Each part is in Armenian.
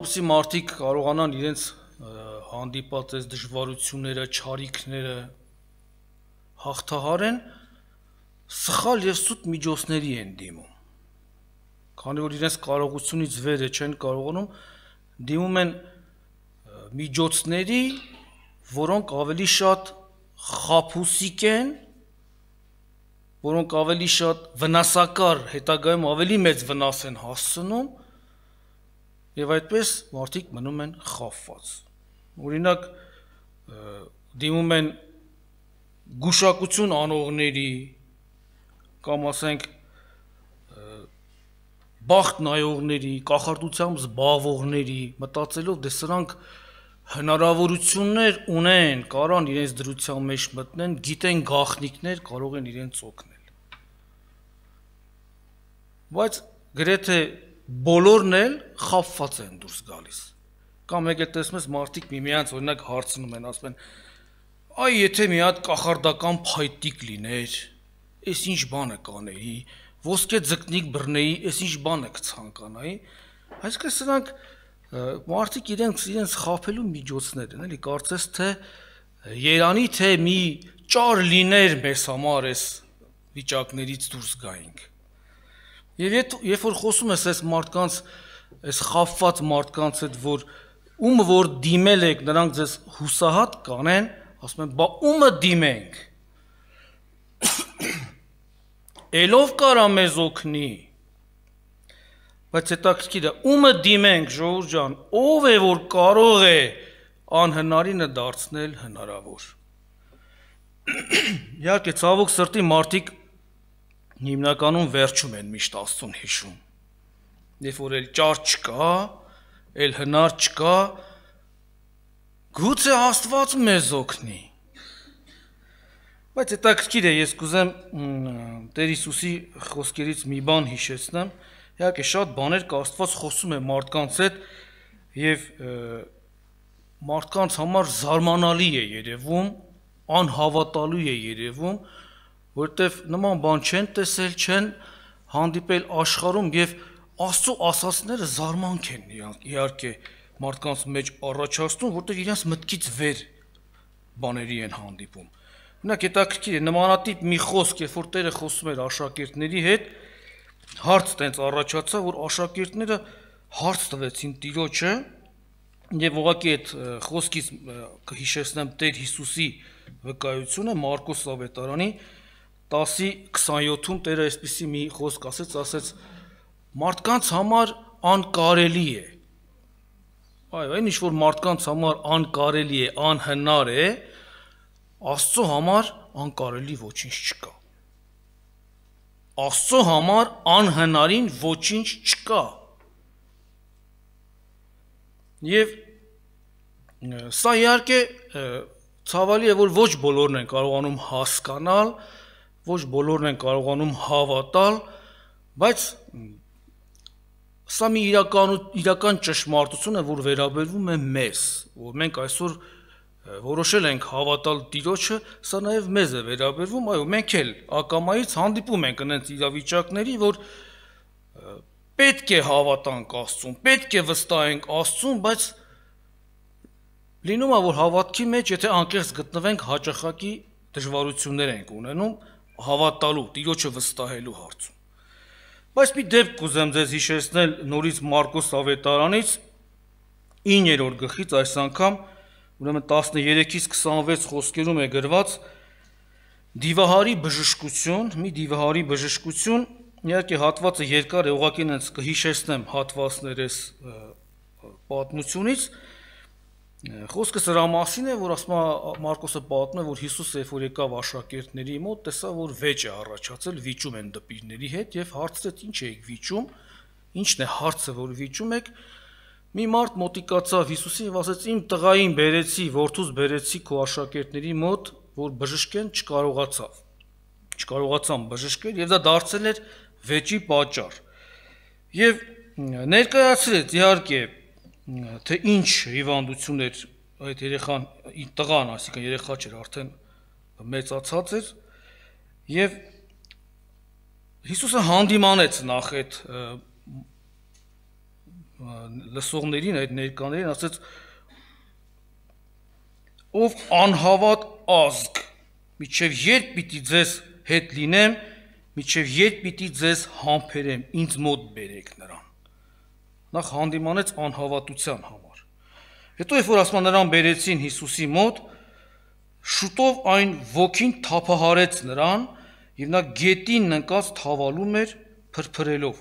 Որպեսզի մարդիկ կարողանան իրենց հանդիպած այս դժվարությունները, չարիքները հաղթահարեն, սխալ եւ սուտ միջոցների են դիմում։ Քանի որ իրենց կարողությունից վերը չեն կարողանում, դիմում են միջոցների, որոնք ավելի շատ խաբուսիկ են, որոնք ավելի շատ վնասակար, հետագայում ավելի մեծ վնաս են հասցնում, եւ այդպես մարդիկ մնում են խաբված։ Օրինակ դիմում են գուշակություն անողների կամ ասենք բախտ նայողների, կախարդությամբ զբաղվողների, մտածելով դե սրանք հնարավորություններ ունեն, կարան իրենց դրության մեջ մտնեն, գիտեն գաղտնիքներ, կարող են իրենց օգնել։ Բայց գրեթե բոլորն էլ խաբված են դուրս գալիս։ Կամ եկել տեսնում ես մարդիկ միմյանց օրինակ հարցնում են, ասում են. «Այ եթե մի հատ կախարդական փայտիկ լիներ, այս ինչ բանը կանեի, ոսկե ձկնիկ բռնեի, այս ինչ բանը կցանկանայի»։ Այսինքն սրանք մարդիկ իրենց խաբելու միջոցներ են, էլի, կարծես թե երանի թե մի ճար լիներ մեզ համար այս վիճակներից դուրս գայինք։ Եվ երբ որ խոսում ես այս մարդկանց, այս խաբված մարդկանց հետ, որ դիմել եք, նրանք ձեզ հուսահատ կանեն, ասում են, բա ումը դիմենք, էլով կարա մեզ օգնի, բայց հետաքրքիր է, ումը դիմենք, ժողովուրդ ջան, ով է, որ կարող է անհնարինը դարձնել հնարավոր։ Իհարկե, ցավոք սրտի մարդիկ հիմնականում վերջում են միշտ Աստծուն հիշում, երբ որ էլ ճար չկա, էլ հնար չկա, գուցե Աստված մեզ օգնի։ Բայց հետաքրքիր է, ես կուզեմ Տեր Հիսուսի խոսքերից մի բան հիշեցնեմ, իհարկե շատ բաներ կա, Աստված խոսում է մարդկանց հետ եւ մարդկանց համար զարմանալի է երևում, անհավատալու է երևում, որտեվ նման բան չեն տեսել, չեն հանդիպել աշխարհում եւ Աստծո ասածները զարմանք են իհարկե մարդկանց մեջ առաջացնում, որտեվ իրենց մտքից վեր բաների են հանդիպում։ Օրինակ հետաքրքիր է նմանատիպ մի խոսք, երբ որ Տերը խոսում էր աշակերտների հետ, հարց տենց առաջացավ, որ աշակերտները հարց տվեցին Տիրոջը եւ ուղղակի այդ խոսքից կհիշեցնեմ Տեր Հիսուսի վկայությունը Մարկոս ավետարանի 10:27-ում Տերը այսպիսի մի խոսք ասեց, մարդկանց համար անկարելի է։ Այո, այն ինչ որ մարդկանց համար անկարելի է, անհնար է, Աստծո համար անկարելի ոչինչ չկա։ Աստծո համար անհնարին ոչինչ չկա։ Եվ սա իհարկե ցավալի է, որ ոչ բոլորն են կարողանում հասկանալ, ոչ բոլորն են կարողանում հավատալ, բայց սա մի իրական ճշմարտություն է, որ վերաբերվում է մեզ, որ մենք այսօր որոշել ենք հավատալ Տիրոջը, սա նաև մեզ է վերաբերվում, այո, մենք էլ ակամայից հանդիպում ենք այնց իրավիճակների, որ պետք է հավատանք Աստծուն, պետք է վստահենք Աստծուն, բայց լինում է, որ հավատքի մեջ, եթե անկեղծ գտնվենք, հաճախակի դժվարություններ ենք ունենում հավատալու, Տիրոջը վստահելու հարցում։ Բայց մի դեպք կուզեմ ձեզ հիշեցնել նորից Մարկոս ավետարանից 9-րդ գլխից, այս անգամ ուրեմն 13-ից 26 խոսքերում է գրված դիվահարի բժշկություն, մի դիվահարի բժշկություն, իհարկե հատվածը երկար է, ուղղակի ինձ կհիշեցնեմ հատվածներ այս պատմությունից։ Խոսքը սրա մասին է, որ ասում է Մարկոսը պատմում է, որ Հիսուսը երբ որ եկավ աշակերտների մոտ, տեսավ, որ վեճ է առաջացել, վիճում են դպիրների հետ եւ հարցրեց. «Ինչ եք վիճում, ինչն է հարցը, որ վիճում եք»։ Մի մարդ մոտիկացավ Հիսուսին եւ ասաց. «Իմ տղային բերեցի, որդուս բերեցի քո աշակերտների մոտ, որ բժշկեն, չկարողացան բժշկել եւ դա դարձել էր վեճի պատճառ»։ Եվ ներկայացրեց իհարկե թե ինչ հիվանդություն էր այդ երեխան, տղան, այսինքն երեխա չէր, արդեն մեծացած էր, եւ Հիսուսը հանդիմանեց նախ այդ լսողներին, այդ ներկաներին ասեց. ով անհավատ ազգ, միջև երբ պիտի ձեզ հետ լինեմ, միջև երբ պիտի ձեզ համբերեմ, ինձ մոտ բերեք նրան։ Նախ հանդիմանեց անհավատության համար։ Հետո երբ որ ասում նրան բերեցին Հիսուսի մոտ, շուտով այն ոգին թափահարեց նրան, եւ նա գետին ընկած թավալում էր փրփրելով։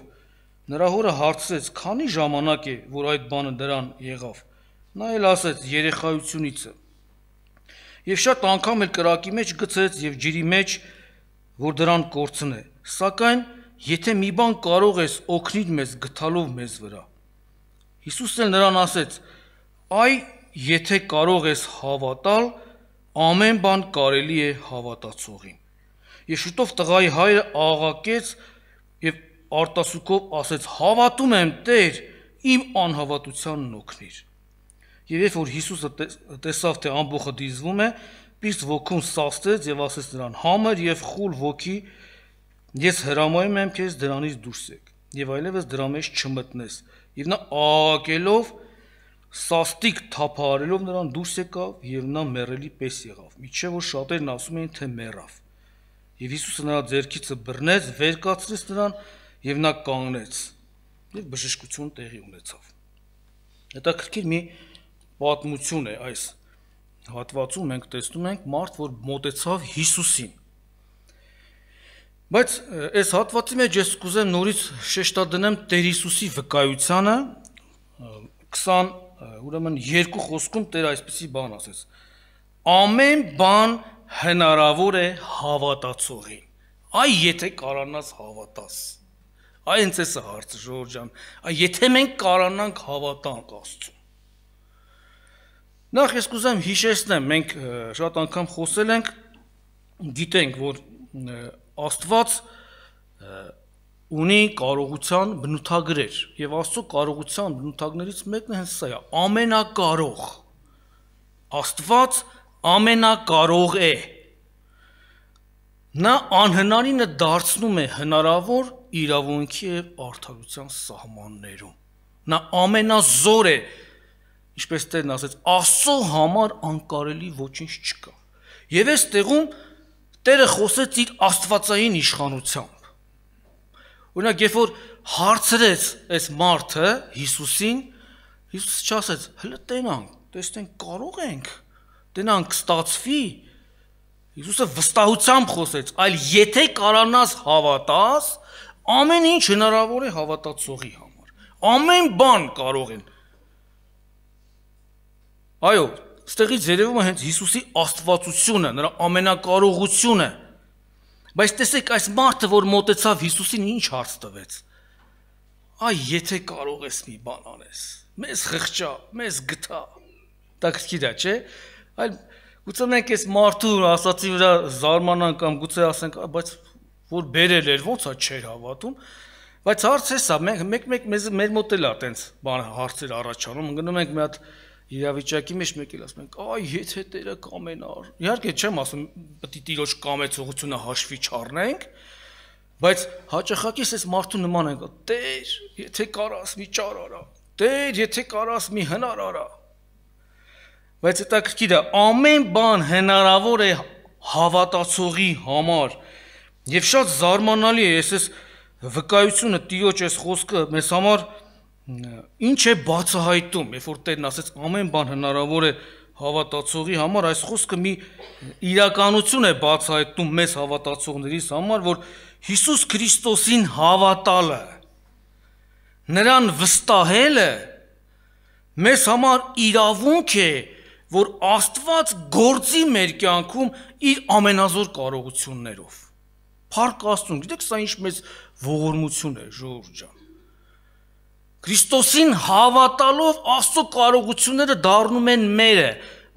Նրա հորը հարցրեց. «Քանի ժամանակ է, որ այդ բանը դրան եղավ»։ Նա էլ ասեց. «Երեխայությունից է»։ Եվ շատ անգամ էլ կրակի մեջ գցեց եւ ջրի մեջ, որ դրան կորցնե։ Սակայն եթե մի բան կարող ես օգնիր մեզ գտալով մեզ վրա։ Հիսուսն էլ նրան ասեց. «Այ եթե կարող ես հավատալ, ամեն բան կարելի է հավատացողին»։ Եվ շուտով տղայի հայրը աղաղակեց եւ արտասուքով ասեց. «Հավատում եմ, Տեր, իմ անհավատությանն օգնիր»։ Եվ երբ որ Հիսուսը տեսավ, թե ամբողջը դիզվում է, պիղծ ոգուն սաստեց եւ ասեց նրան. «Համր եւ խուլ ոգի, ես հրամայում եմ քեզ դրանից դուրս եկ եւ այլևս դրա մեջ չմտնես»։ Եվ նա աղաղակելով, սաստիկ թափահարելով նրան դուրս եկավ եւ նա մեռելի պես եղավ, միջև որ շատերն ասում էին, թե մեռավ։ Եվ Հիսուսը նրա ձեռքիցը բռնեց, վեր կացրեց նրան եւ նա կանգնեց եւ բժշկություն տեղի ունեցավ։ Հետաքրքիր մի պատմություն է այս հատվածում, մենք տեսնում ենք մարդ, որ մոտեցավ Հիսուսին։ Բայց այս հատվածի մեջ ես կուզեմ նորից շեշտադրեմ Տեր Հիսուսի վկայությանը, 22 խոսքում Տեր այսպիսի բան ասեց. ամեն բան հնարավոր է հավատացողին։ Այ եթե կարողանաս հավատաս։ Այ հենց էս է հարցը, ժողովուրդ ջան։ Այ եթե մենք կարողանանք հավատանք Աստծուն։ Նախ ես կուզեմ հիշեցնեմ, մենք շատ անգամ խոսել ենք, գիտենք, որ Աստված ունի կարողության բնութագրեր, եւ Աստծո կարողության բնութագրներից մեկն հենց սա է, ամենակարող։ Աստված ամենակարող է։ Նա անհնարինը դարձնում է հնարավոր իրավունքի եւ արդարության սահմաններում։ Նա ամենազոր է, ինչպես Տերն ասեց, Աստծո համար անկարելի ոչինչ չկա։ Եվ այս տեղում Տերը խոսեց իր աստվածային իշխանությամբ։ Օրինակ, երբ որ հարցրեց այս մարդը Հիսուսին, Հիսուսը չասեց. «Հələ տենանք, տեսնենք կարող ենք, տենանք ստացվի»։ Հիսուսը վստահությամբ խոսեց, այլ եթե կարողանաս հավատաս, ամեն ինչ հնարավոր է հավատացողի համար։ Ամեն բան կարող են։ Այո, ստեղից երևում է հենց Հիսուսի աստվածությունը, նրա ամենակարողությունը։ Բայց տեսեք, այս մարդը, որ մոտեցավ Հիսուսին, ինչ հարց տվեց։ Այ եթե կարող ես մի բան անես, մեզ խղճա, մեզ գթա։ Տակրկիր է, չէ՞։ Այլ գուցե մենք այս մարդու ասացի վրա զարմանանք կամ գուցե ասենք, բայց որ բերել էր, ոնց է չէր հավատում։ Բայց հարցը սա, մեկ մեր մոտ էլ է այտենց բան հարցեր առաջանում, գնում ենք մի հատ իրավիճակի մեջ մեկ էլ ասում ենք, այ եթե Տերը կամենար։ Իհարկե չեմ ասում, պետք է Տիրոջ կամեցողությունը հաշվի չառնենք, բայց հաճախակի այս մարդու նման ենք, Տեր, եթե կարաս մի ճար արա, Տեր, եթե կարաս մի հնար արա։ Բայց հետաքրքիր է, ամեն բան հնարավոր է հավատացողի համար։ Եվ շատ զարմանալի է այս վկայությունը Տիրոջ այս խոսքը մեզ համար ինչ է բացահայտում, երբ որ Տերն ասեց ամեն բան հնարավոր է հավատացողի համար, այս խոսքը մի իրականություն է բացահայտում մեզ հավատացողներիս համար, որ Հիսուս Քրիստոսին հավատալը, նրան վստահելը մեզ համար իրավունք է, որ Աստված գործի մեր կյանքում իր ամենազոր կարողություններով։ Փառք Աստծուն, գիտեք սա ինչ մեծ ողորմություն է, ժողովուրդ ջան։ Քրիստոսին հավատալով Աստծո կարողությունները դառնում են մերը,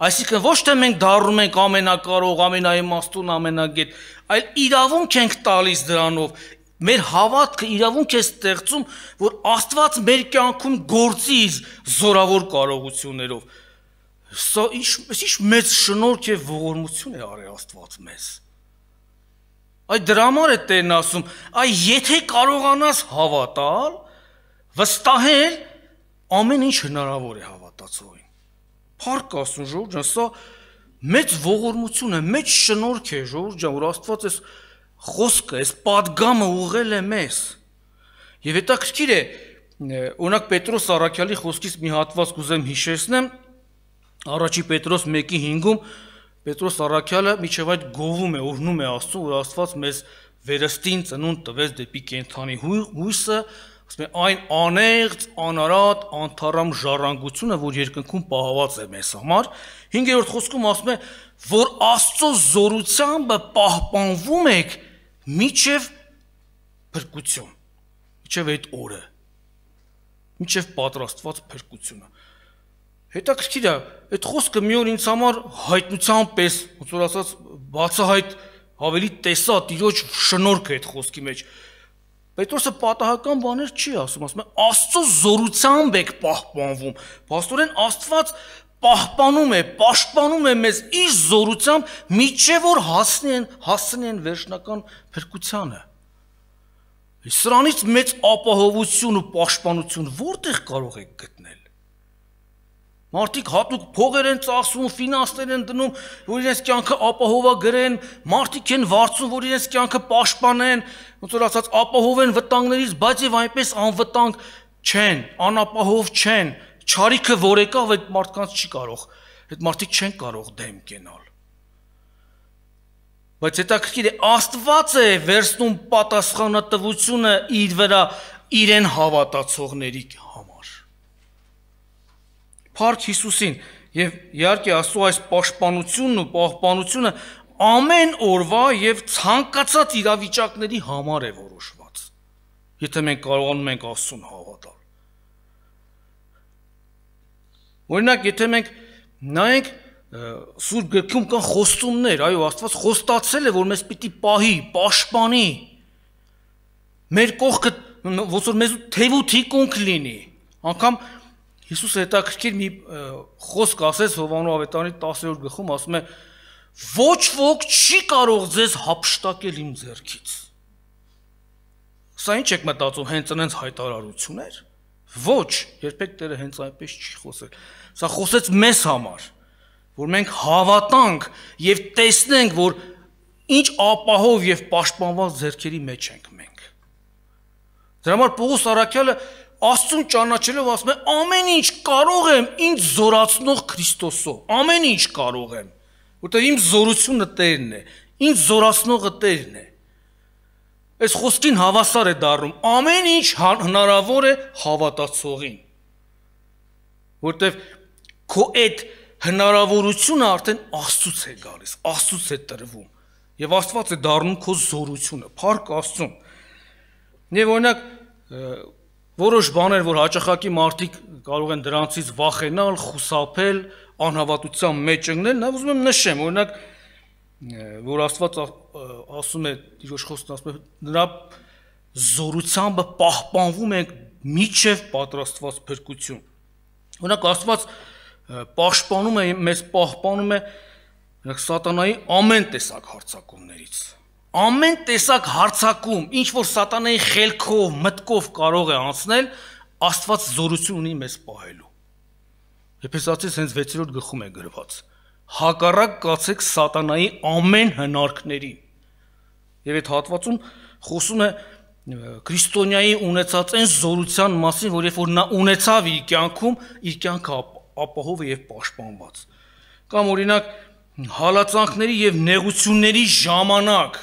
այսինքն ոչ թե մենք դառնում ենք ամենակարող, ամենաիմաստուն, ամենագետ, այլ իրավունք ենք տալիս դրանով, մեր հավատքը իրավունք է ստեղծում, որ Աստված մեր կյանքում գործի իր զորավոր կարողություններով։ Սա ինչ մեծ շնորհք եւ ողորմություն է արել Աստված մեզ։ Այ դրա համար է Տերն ասում, այ եթե կարողանաս հավատալ, վստահել, ամեն ինչ հնարավոր է հավատացողին։ Փառք Աստծուն, ժողովուրդ ջան, սա մեծ ողորմություն է, մեծ շնորհք է, ժողովուրդ ջան, որ Աստված այս խոսքը, այս պատգամը ուղղել է մեզ։ Եվ հետաքրքիր է, օրինակ Պետրոս Առաքյալի խոսքից մի հատված կուզեմ հիշեցնեմ, առաջի Պետրոս 1:5-ում Պետրոս Առաքյալը միջև այդ գովում է, օրհնում է Աստծուն, որ Աստված մեզ վերստին ծնունդ տվեց դեպի կենդանի հույսը, ասում է այն անեղծ, անարատ, անթառամ ժառանգությունը, որ երկնքում պահված է մեզ համար։ 5-րդ խոսքում ասում է, որ Աստծո զորությամբ պահպանվում եք միջև փրկություն, միջև այդ օրը, միջև պատրաստված փրկությունը։ Հետաքրքիր է, այդ խոսքը մի օր ինձ համար հայտնության պես, ոնց որ ասած, բացահայտ ավելի տեսա Տիրոջ շնորհքը այդ խոսքի մեջ։ Պետրոսը պատահական բաներ չի ասում է Աստծո զորությամբ եք պահպանվում։ Փաստորեն Աստված պահպանում է, պաշտպանում է մեզ իր զորությամբ, միջև որ հասնեն վերջնական փրկությանը։ Սրանից մեծ ապահովություն ու պաշտպանություն որտեղ կարող եք գտնել։ Մարդիկ հատուկ փողեր են ծախսում, ֆինանսներ են դնում, որ իրենց կյանքը ապահովագրեն, մարդիկ են վարձում, որ իրենց կյանքը պաշտպանեն, ոնց որ ասած ապահովեն վտանգներից, բայց եւ այնպես անվտանգ չեն, անապահով չեն, չարիքը որ եկավ այդ մարդկանց չի կարող, այդ մարդիկ չեն կարող դեմ կենալ։ Բայց հետաքրքիր է, Աստված է վերցնում պատասխանատվությունը իր վրա իրեն հավատացողների համար։ Փառք Հիսուսին, եւ իհարկե Աստծո այս պաշտպանությունն ու պահպանությունը ամեն օրվա եւ ցանկացած իրավիճակների համար է որոշված։ Եթե մենք կարողանում ենք Աստծուն հավատալ։ Օրինակ, եթե մենք նայենք Սուրբ գրքում կան խոստումներ, այո, Աստված խոստացել է, որ մեզ պիտի պահի, պաշտպանի։ Մեր կողքը ոնց որ մեզ թեև ու թիկունք լինի։ Անկամ Հիսուսը հետաքրքիր մի խոսք ասեց Հովհաննես ավետարանի 10-րդ գլխում, ասում է. ոչ ոք չի կարող ձեզ հափշտակել իմ ձեռքից։ Սա ինչ եք մտածում, հենց այնց հայտարարություններ։ Ոչ, երբեք Տերը հենց այնպես չի խոսել։ Սա խոսեց մեզ համար, որ մենք հավատանք եւ տեսնենք, որ ինչ ապահով եւ պաշտպանված ձեռքերի մեջ ենք մենք։ Դրա համար Պողոս Առաքյալը Աստծուն ճանաչելով ասում է ամեն ինչ կարող եմ ինձ զորացնող Քրիստոսով, ամեն ինչ կարող եմ, որտեղ իմ զորությունը Տերն է, ինձ զորացնողը Տերն է։ Այս խոսքին հավասար է դառնում, ամեն ինչ հնարավոր է հավատացողին, որտեղ քո այդ հնարավորությունը արդեն Աստծուց է գալիս, Աստծուց է տրվում, եւ Աստված է դառնում քո զորությունը, փառք Աստծուն։ Եվ օրինակ որոշ բաներ, որ հաճախակի մարդիկ կարող են դրանցից վախենալ, խուսափել, անհավատության մեջ ընկնել, նա ուզում եմ նշեմ, օրինակ, որ Աստված ասում է, Տիրոջ խոսքն ասում է, նրա զորությամբ պահպանվում ենք միջև պատրաստված փրկություն։ Օրինակ Աստված պաշտպանում է, մեզ պահպանում է սատանայի ամեն տեսակ հարձակումներից։ Ամեն տեսակ հարձակում, ինչ որ սատանայի խելքով, մտքով կարող է անցնել, Աստված զորություն ունի մեզ պահելու։ Եփեսացիս հենց 6-րդ գլխում է գրված. հակառակ կացեք սատանայի ամեն հնարքներին։ Եվ այդ հատվածում խոսում է քրիստոնյայի ունեցած այն զորության մասին, որ երբ որ նա ունեցավ իր կյանքում, իր կյանքը ապահով է եւ պաշտպանված։ Կամ օրինակ հալածանքների եւ նեղությունների ժամանակ,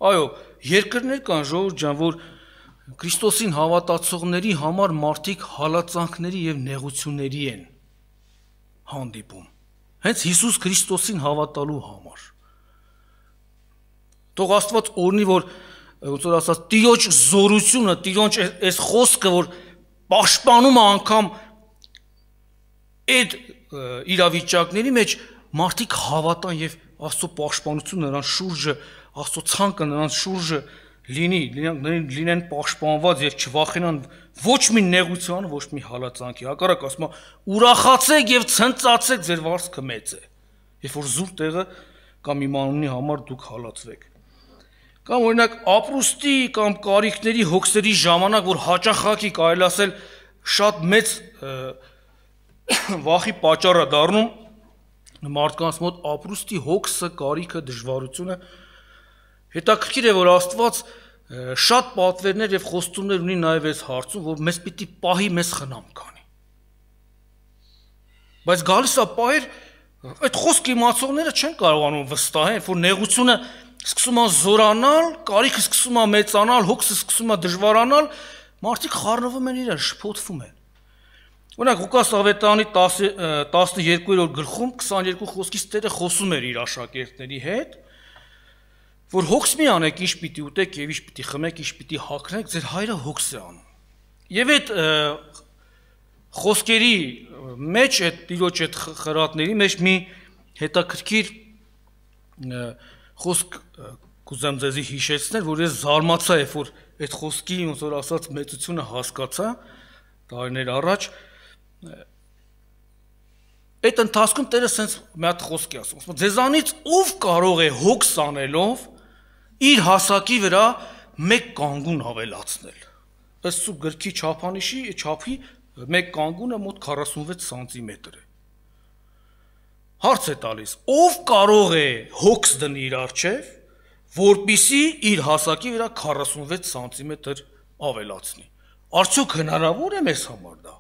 այո, երկրներ կան, ժողովուրդ ջան, որ Քրիստոսին հավատացողների համար մարդիկ հալածանքների եւ նեղությունների են հանդիպում։ Հենց Հիսուս Քրիստոսին հավատալու համար։ Թող Աստված օրհնի, որ ոնց որ ասած Տիրոջ զորությունը, Տիրոջ այս խոսքը, որ պաշտպանում է անգամ այդ իրավիճակների մեջ մարդիկ հավատան եւ Աստծո պաշտպանությունը նրանց շուրջը, Աստծո ցանկը նրանց շուրջը լինեն պաշտպանված եւ չվախենան ոչ մի նեղության, ոչ մի հալածանքի։ Հակառակ ասում է, ուրախացեք եւ ցնծացեք, ձեր վարձքը մեծ է։ Երբ որ զուր տեղը կամ իմանունի համար դուք հալածվեք։ Կամ օրինակ ապրուստի կամ կարիքների հոգսերի ժամանակ, որ հաճախակի կարելի ասել շատ մեծ վախի պատճառ է դառնում մարդկանց մոտ ապրուստի հոգսը, կարիքը, դժվարությունը։ Հետաքրքիր է, որ Աստված շատ պատվերներ եւ խոստումներ ունի նաեւ այս հարցում, որ մեզ պիտի պահի, մեզ խնամ կանի։ Բայց գալիս է պահեր, այդ խոսքը իմացողները չեն կարողանում վստահել, որ նեղությունը սկսում է զորանալ, կարիքը սկսում է մեծանալ, հոգսը սկսում է դժվարանալ, մարդիկ խառնվում են իրար, շփոթվում են։ Օրինակ Ղուկաս ավետարանի 12-րդ գլխում 22 խոսքից Տերը խոսում էր իր աշակերտների հետ, որ հոգս մի անեք, ինչ պիտի ուտեք եւ ինչ պիտի խմեք, ինչ պիտի հագնեք, ձեր հայրը հոգս է անում։ Եվ այդ խոսքերի մեջ, այդ տիրոջ այդ խրատների մեջ մի հետաքրքիր խոսք կուզեմ ձեզի հիշեցնել, որ ես զարմացա, երբ որ այդ խոսքի ոնց որ ասած մեծությունը հասկացա տարիներ առաջ։ Այդ ընթացքում Տերը sense մի հատ խոսք է ասում, ձեզանից ով կարող է հոգս անելով իր հասակի վրա մեկ կանգուն ավելացնել։ Ըստ սուրբ գրքի չափանիշի չափի մեկ կանգունը մոտ 46 սանտիմետր է։ Հարց է տալիս, ով կարող է հոգս դնի իր առջև, որպիսի իր հասակի վրա 46 սանտիմետր ավելացնի։ Արդյոք հնարավոր է մեզ համար դա։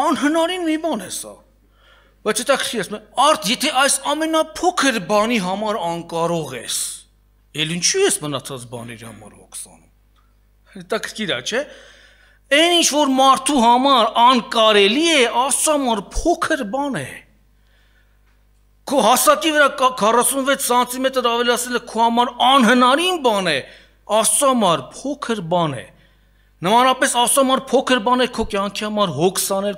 Անհնարին մի բան է սա։ Բայց հետաքրքիր է, արդ եթե այս ամենափոքր բանի համար անկարող ես, էլ ինչու ես մնացած բաների համար հոգս անում։ Հետաքրքիր է, չէ՞։ Այն ինչ որ մարդու համար անկարելի է, Աստծո համար փոքր բան է։ Քո հասակի վրա 46 սանտիմետր ավելացնելը քո համար անհնարին բան է, Աստծո համար փոքր բան է։ Նմանապես Աստծո համար փոքր բան է քո կյանքի համար հոգս անել,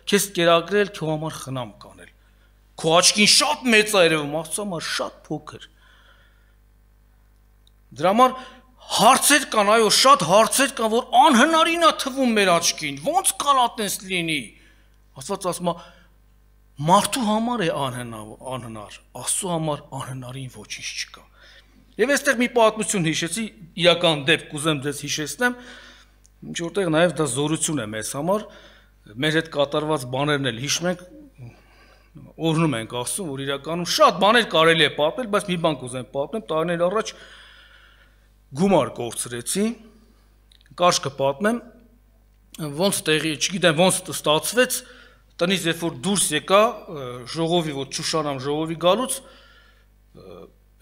քեզ կերակրել, քո համար խնամ կանել։ Քո աչքին շատ մեծ է երևում, Աստծո համար շատ փոքր։ Դրա համար հարցեր կան, այո, շատ հարցեր կան, որ անհնարին է թվում մեր աչքին, ոնց կարա այդպես լինի։ Աստված ասում է, մարդու համար է անհնար, Աստծո համար անհնարին ոչինչ չկա։ Եվ այստեղ մի պատմություն հիշեցի, իրական դեպք կուզեմ ձեզ հիշեցնեմ, ինչ որտեղ նաև դա զորություն է մեզ համար, մեր հետ կատարված բաներն էլ հիշում ենք, օրհնում ենք ասում, որ իրականում շատ բաներ կարելի է պատմել, բայց մի բան կուզեմ պատմեմ, տարիներ առաջ գումար կորցրեցի, կարճ կպատմեմ, ոնց տեղի, չգիտեմ ոնց ստացվեց, տնից երբ որ դուրս եկա ժողովի, որ Շուշանամ ժողովի գալուց,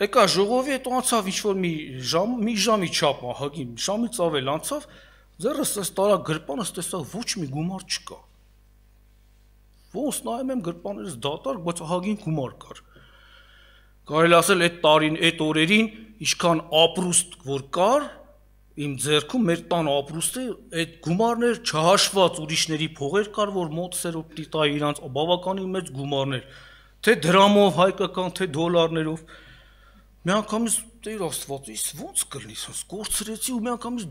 եկա ժողովի, հետո անցավ ինչ-որ մի ժամի չափ, ահագին, ժամից ավել անցավ, ձեռս էս տարա գրպանս տեսա ոչ մի գումար չկա։ Ոնց նայում եմ գրպաներս դատարկ, բայց ահագին գումար կար։ Կարելի ասել այդ տարին, այդ օրերին ինչքան ապրուստ որ կար, իմ ձեռքում մեր տան ապրուստը այդ գումարներ չհաշված ուրիշների փողեր կար, որ մոտսերով պիտի տայի իրանց բավականին մեծ գումարներ, թե դրամով հայկական, թե դոլարներով։ Միանգամից Տեր Աստված, իս ոնց կլինի, ասես կորցրեցի ու միանգամից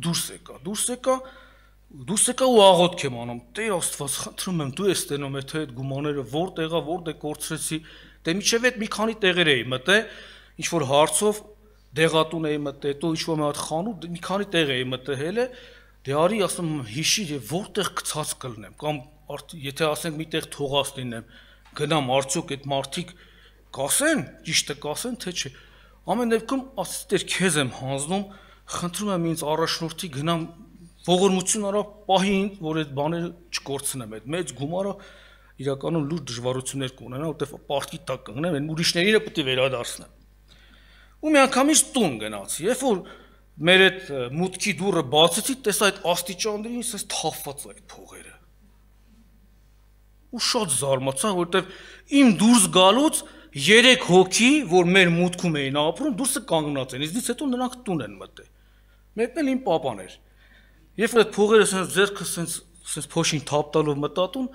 դուրս եկա ու աղոթք եմ անում։ Տեր Աստված, խնդրում եմ, դու ես տենում թե այդ գումարները որտեղ կորցրեցի, դե միջև այդ մի քանի տեղեր էի մտել, ինչ որ հարցով դեղատուն էի մտել, հետո ինչ-որ մի հատ խանութ, մի քանի տեղ էի մտել, դե արի ասում հիշիր եւ որտեղ գցած կլնեմ, կամ եթե ասենք միտեղ թողած լինեմ, գնամ արդյոք այդ մարդիկ կասեն, ճիշտը կասեն, թե չէ։ Ամեն դեպքում ասես Տեր քեզ եմ հանձնում, խնդրում եմ ինձ առաջնորդի գնամ ողորմություն արա պահի, որ այդ բաները չկորցնեմ, այդ մեծ գումարը իրականում լուրջ դժվարություններ կունենա, որտեղ պարտքի տակ կգնեմ, այն ուրիշներին պետք է վերադարձնեմ։ Ու միանգամից տուն գնացի, երբ որ մեր այդ մուտքի դուռը բացեցի, տեսա այդ աստիճաններին ասես թափված այդ փողերը։ Ու շատ զարմացա, որտեղ իմ դուրս գալուց 3 հոգի, որ մեր մուտքում էին ապրում, դուրսը կանգնած են, իզնից հետո նրանք տուն են մտել։ Մեկն էլ իմ պապան էր։ Երբ որ այդ փողերը ասես ձեռքը ասես փոշին թափտալով մտա տուն,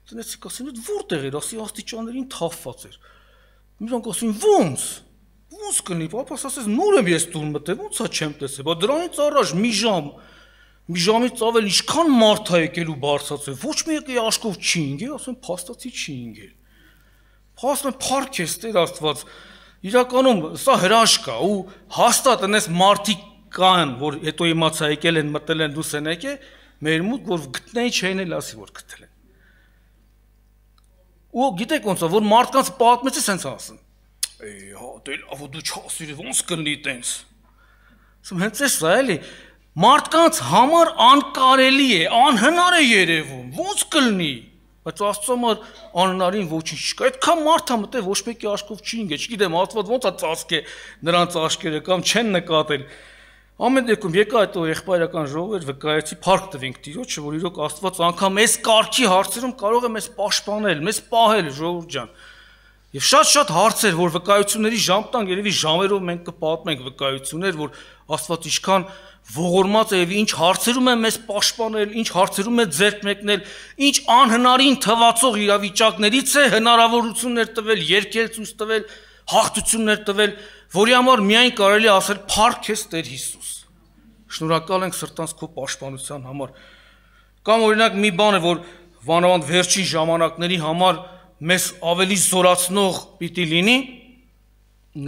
տնեցիք ասին, որտեղ էր, ասի աստիճաններին թափված էր։ Նրանք ասին, ոնց կլինի, պապաս ասես նոր եմ ես տուն մտել, ոնց է չեմ տեսել, բայց դրանից առաջ մի ժամից ավել ինչքան մարդ է եկել ու բարձրացել, ոչ մեկի աշկով չի ընկել, ասում փաստացի չի ընկել։ Փաստորեն փառք ես Տեր Աստված, իրականում սա հրաշք է ու հաստատ այնպես մարդիկ կան, որ հետո իմացա եկել են մտել են դուս են եկել, մեր մոտ, որ գտնեին չէին էլ ասի, որ գտել են։ Ու գիտեք ոնց է, որ մարդկանց պատմեցի սենց ասեն։ Հա, դե լավ, դու չասիր, ոնց կլինի տենց։ Ասում հենց էս է էլի, մարդկանց համար անկարելի է, անհնար է երևում, ոնց կլինի։ Բայց Աստծո համար անհնարին ոչինչ չկա։ Այդքան մարդ է մտել, ոչ մեկի աչքով չի ընկել, չգիտեմ, Աստված ոնց է ծածկե նրանց աչքերը կամ չեն նկատել։ Ամեն դեպքում եկա այդ եղբայրական ժողովեր վկայեցի, փառք տվենք Տիրոջը, որ իրոք Աստված անգամ այս կարգի հարցերում կարող է մեզ պաշտպանել, մեզ պահել, ժողովուրդ ջան։ Եվ շատ հարցեր, որ վկայությունների ժամ տան, երևի ժամերով մենք կպատմենք վկայություններ, որ Աստված ինչքան ողորմած է եւ ինչ հարցերում է մեզ պաշտպանել, ինչ հարցերում է ձեռք մեկնել, ինչ անհնարին թվացող իրավիճակներից է հնարավորություններ տվել, երկել ցույց տվել, հաղթություններ տվել, որի համար միայն կարելի ասել փառք քեզ Տեր Հիսուս։ Շնորհակալ ենք սրտանց քո պաշտպանության համար։ Կամ օրինակ մի բան է, որ վանավանդ վերջին ժամանակների համար մեզ ավելի զորացնող պիտի լինի,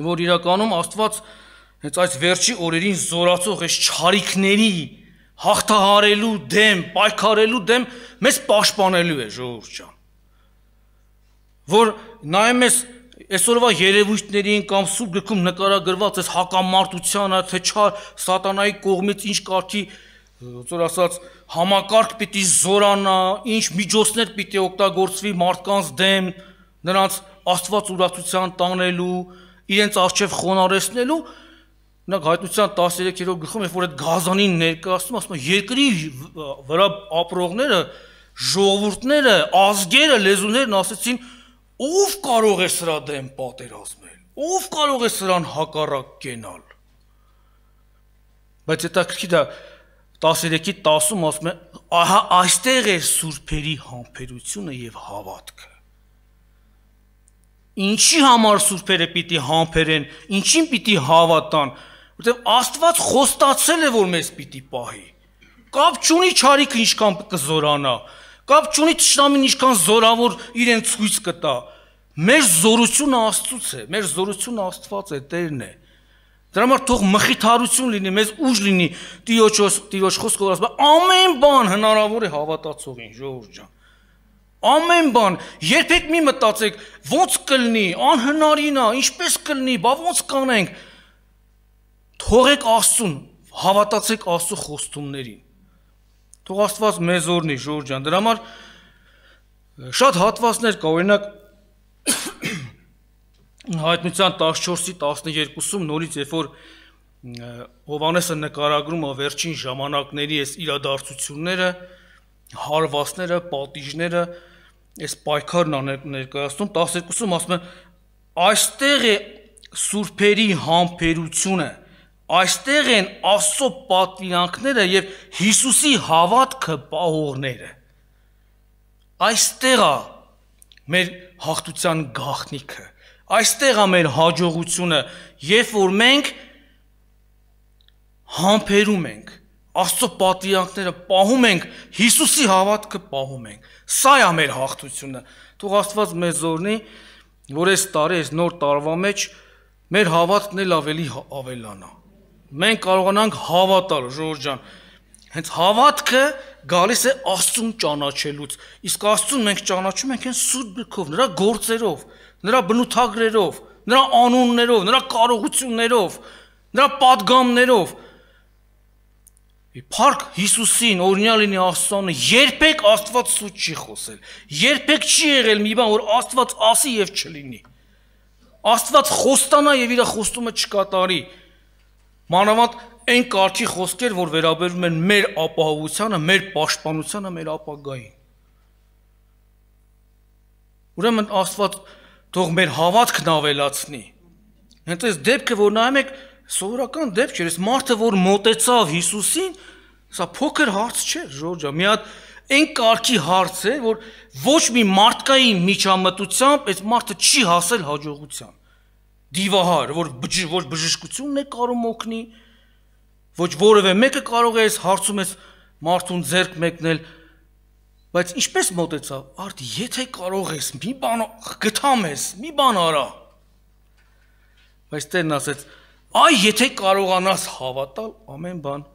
որ իրականում Աստված հենց այս վերջի օրերին զորացող այս չարիքների հաղթահարելու դեմ, պայքարելու դեմ մեզ պաշտպանելու է, ժողովուրդ ջան։ Որ նայում ես այսօրվա երևույթներին կամ Սուրբ գրքում նկարագրված այս հակամարտությանը, թե չար սատանայի կողմից ինչ կարգի, ոնց ասած, համակարգ պիտի զորանա, ինչ միջոցներ պիտի օգտագործվի մարդկանց դեմ, նրանց Աստված ուրացության տանելու, իրենց առջև խոնարհեցնելու, Նրանք հայտնության 13-րդ գլխում, երբ որ այդ գազանին ներկայացնում, ասում են երկրի վրա ապրողները, ժողովուրդները, ազգերը, լեզուներն ասեցին, ով կարող է սրա դեմ պատերազմել, ով կարող է սրան հակառակ կենալ։ Բայց հետաքրքիր է 13-10-ում ասում է, ահա այստեղ է սուրբերի համբերությունը եւ հավատքը։ Ինչի համար սուրբերը պիտի համբերեն, ինչին պիտի հավատան, որտեղ Աստված խոստացել է, որ մեզ պիտի պահի։ Կապ չունի չարիքը ինչքան կզորանա, կապ չունի թշնամին ինչքան զորավոր իրեն ցույց կտա։ Մեր զորությունը Աստծուց է, մեր զորությունը Աստված է, Տերն է։ Դրա համար թող մխիթարություն լինի, մեզ ուժ լինի, Տիրոջ խոսքով ասում, ամեն բան հնարավոր է հավատացողին, ժողովուրդ ջան։ Ամեն բան, երբեք մի մտածեք, ոնց կլինի, անհնարին է, ինչպես կլինի, բա ոնց կանենք։ Թողեք Աստծուն, հավատացեք Աստծո խոստումներին։ Թող Աստված մեզ օրհնի, ժողովուրդ ջան։ Դրա համար շատ հատվածներ կա, օրինակ Հայտնության 14-12-ում նորից երբ որ Հովհաննեսը նկարագրում է վերջին ժամանակների այս իրադարձությունները, հարվածները, պատիժները, այս պայքարն ներկայացնում 12-ում ասում է այստեղ է սուրբերի համբերությունը, այստեղ են Աստծո պատվիրանքները եւ Հիսուսի հավատքը պահողները։ Այստեղ է մեր հաղթության գաղտնիքը, այստեղ է մեր հաջողությունը, երբ որ մենք համբերում ենք, Աստծո պատվիրանքները պահում ենք, Հիսուսի հավատքը պահում ենք։ Սա է մեր հաղթությունը։ Թող Աստված մեզ օրհնի, որ այս տարի, այս նոր տարվա մեջ մեր հավատքն էլ ավելի ավելանա։ Մենք կարողանանք հավատալ, ժողովուրդ ջան։ Հենց հավատքը գալիս է Աստծուն ճանաչելուց։ Իսկ Աստծուն մենք ճանաչում ենք հենց Սուրբ գրքով, նրա գործերով, նրա բնութագրերով, նրա անուններով, նրա կարողություններով, նրա պատգամներով։ Փառք Հիսուսին, օրհնյալ լինի Աստծուն, երբեք Աստված սուտ չի խոսել։ Երբեք չի եղել մի բան, որ Աստված ասի եւ չլինի։ Աստված խոստանա եւ իր խոստումը չկատարի։ Մանավանդ այն կարգի խոսքեր, որ վերաբերում են մեր ապահովությանը, մեր պաշտպանությանը, մեր ապագային։ Ուրեմն Աստված թող մեր հավատքն ավելացնի։ Հենց այս դեպքը, որ նայում եք, սովորական դեպք չէ, այս մարդը, որ մոտեցավ Հիսուսին, սա փոքր հարց չէ, ժողովուրդ ջան, մի հատ այն կարգի հարց է, որ ոչ մի մարդկային միջամտությամբ այս մարդը չի հասել հաջողության։ Դիվահար, որ ոչ բժշկությունն է կարող օգնի, ոչ որևէ մեկը կարող է այս հարցում այս մարդուն ձեռք մեկնել, բայց ինչպես մոտեցավ, արդ եթե կարող ես, մի բան գտամ ես, մի բան արա։ Բայց Տերն ասեց, այ եթե կարողանաս հավատալ, ամեն բան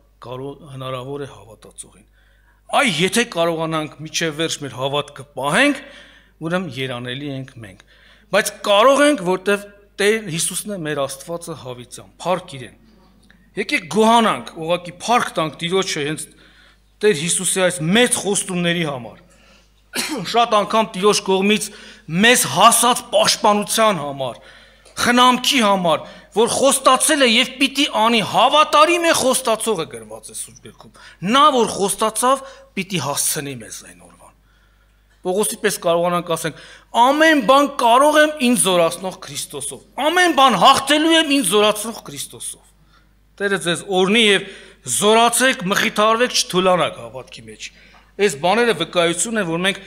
հնարավոր է հավատացողին։ Այ եթե կարողանանք միջև վերջ մեր հավատքը պահենք, ուրեմն երանելի ենք մենք։ Բայց կարող ենք, որտեվ Տեր Հիսուսն է մեր Աստվածը հավիտյան, փառք իրեն։ Եկեք գոհանանք, ուղղակի փառք տանք Տիրոջը հենց Տեր Հիսուսի այս մեծ խոստումների համար։ Շատ անգամ Տիրոջ կողմից մեզ հասած պաշտպանության համար, խնամքի համար, որ խոստացել է եւ պիտի անի, հավատարիմ է խոստացողը գրված է Սուրբ Գրքում։ Նա որ խոստացավ, պիտի հասցնի մեզ այն օրվան։ Պողոսի պես կարողանանք ասենք, ամեն բան կարող եմ ինձ զորացնող Քրիստոսով։ Ամեն բան հաղթելու եմ ինձ զորացնող Քրիստոսով։ Տերը ձեզ օրհնի եւ զորացեք, մխիթարվեք, չթուլանաք հավատքի մեջ։ Այս բաները վկայություն են, որ մենք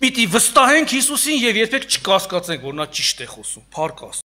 պիտի վստահենք Հիսուսին եւ երբեք չկասկածենք, որ նա ճիշտ է խոսում։ Փառք Աստծո։